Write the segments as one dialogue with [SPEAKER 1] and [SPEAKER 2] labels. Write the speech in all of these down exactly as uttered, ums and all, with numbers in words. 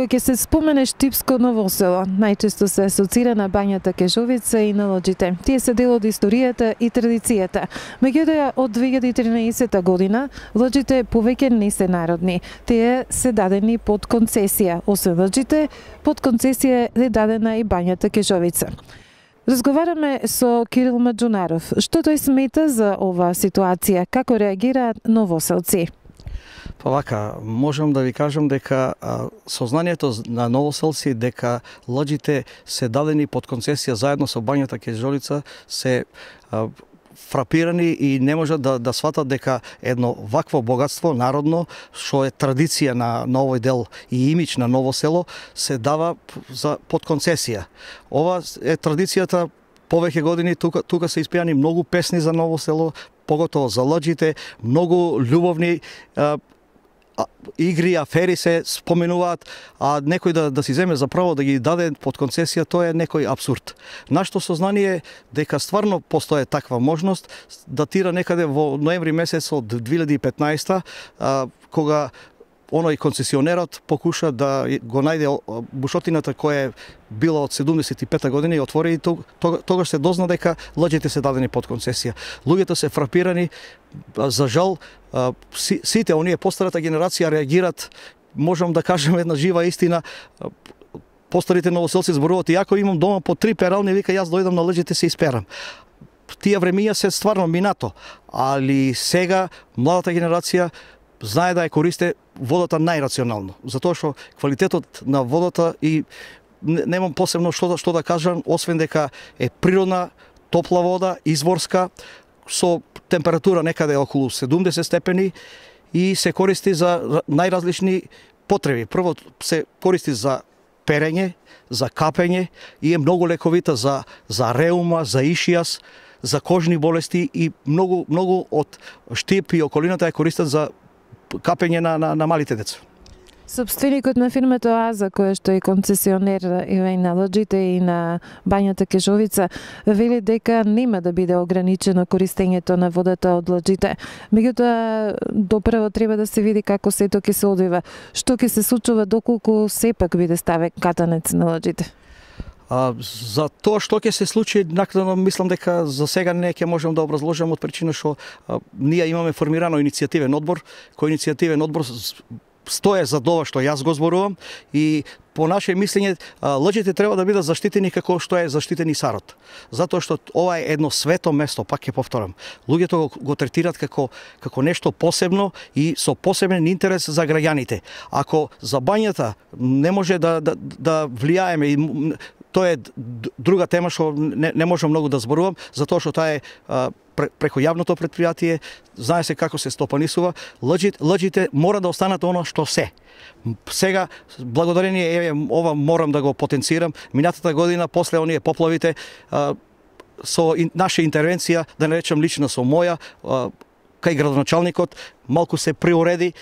[SPEAKER 1] Кога ќе се спомене Штипско Ново село, најчесто се асоцира на бањата Кежовица и на лоџите. Тие се дел од историјата и традицијата. Меѓутоа, од две илјади и тринаесетта година, лоџите повеќе не се народни. Тие се дадени под концесија. Освен лоџите, под концесија е дадена и бањата Кежовица. Разговараме со Кирил Маџунаров. Што тој смета за оваа ситуација? Како реагираат новоселци?
[SPEAKER 2] Па вака, можам да ви кажам дека а, сознанието на новоселци дека лоџите се дадени под концесија заедно со бањата Кежовица се а, фрапирани и не можат да, да сватат дека едно вакво богатство народно, што е традиција на, на овој дел и имидж на Ново село, се дава за, под концесија. Ова е традицијата повеќе години, тука, тука се испеани многу песни за Ново село, поготово за лоџите, многу љубовни а, игри, афери се споменуваат, а некој да, да си земе за право да ги даде под концесија, тоа е некој абсурд. Нашето сознание дека стварно постои таква можност датира некаде во ноември месец од две илјади и петнаесетта, а, кога оној концесионерот покуша да го најде бушотината која е била од седумдесет и петта година и отвори, и тогаш се дозна дека лоџите се дадени под концесија. Луѓето се фрапирани, за жал, сите оние постарата генерација реагират, можам да кажем една жива истина, постарите новоселци зборуваат, иако имам дома по три перални, вика јас дојдам на лоџите се исперам. Тие времиња се стварно минато, али сега младата генерација знае да ја користе водата најрационално, затоа што квалитетот на водата и немам посебно што да, што да кажам, освен дека е природна, топла вода, изворска, со температура некаде околу седумдесет степени и се користи за најразлични потреби. Прво се користи за перење, за капење и е многу лековита за, за реума, за ишијас, за кожни болести и многу, многу од Штип и околината ја користат за капење на, на, на малите деца.
[SPEAKER 1] Собственикот на фирмата Оаза, која што е концесионер и на лоџите и на бањата Кежовица, вели дека нема да биде ограничено користењето на водата од лоџите. Меѓутоа, допрево треба да се види како сето ќе се одвива. Што ќе се случува доколку сепак биде ставен катанец на лоџите?
[SPEAKER 2] А, за тоа што ќе се случи, накнадно мислам дека за сега не ќе можам да образложам од причина што а, ние имаме формирано иницијативен одбор, кој иницијативен одбор стое за тоа што јас го зборувам и по наше мислење лоџите треба да бидат заштитени како што е заштитен и Сарот. Затоа што ова е едно свето место, пак ќе повторам. Луѓето го, го третираат како како нешто посебно и со посебен интерес за граѓаните. Ако за бањата не може да да, да влијаеме и тоа е друга тема што не, не можам многу да зборувам, затоа што таа е а, преко јавното предпријатие, знае се како се стопанисува, лоџите, лоџите мора да останат оно што се. Сега, благодарение, еве, ова морам да го потенцирам, минатата година, после оние поплавите, а, со ин, наша интервенција, да не речем лично со моја, а, кај градоначалникот, малку се приуреди,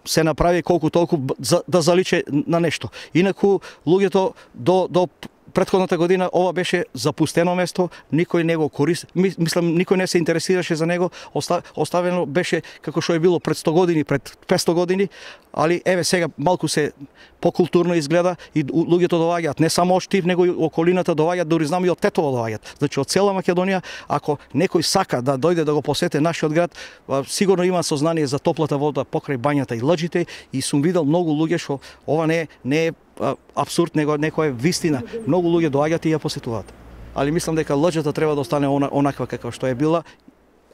[SPEAKER 2] се направи колку толку за, да заличе на нешто. Инаку, луѓето до, до претходната година ова беше запустено место, никој не го користи, мислам никој не се интересираше за него, оставено беше како што е било пред сто години, пред петсто години, али еве сега малку се покултурно изгледа и луѓето доаѓаат не само од Штип, него и околината доаѓаат, дури знам и од Тетово доаѓаат. Значи од цела Македонија, ако некој сака да дојде да го посети нашиот град, сигурно има сознание за топлата вода покрај бањата и лоџите и сум видел многу луѓе што ова не е, не е абсурд, него некоја вистина. Многу луѓе доаѓаат и ја посетуваат. Али мислам дека лоџата треба да остане онаква како што е била.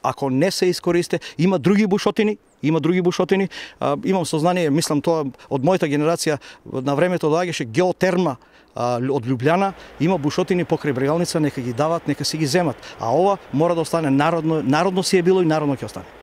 [SPEAKER 2] Ако не се искористе, има други бушотини, има други бушотини. А, имам сознание, мислам тоа од мојата генерација на времето доаѓаше геотерма а, од Лјубљана, има бушотини покрај Брегалница, нека ги дават, нека си ги земат. А ова мора да остане народно, народно си е било и народно ќе остане.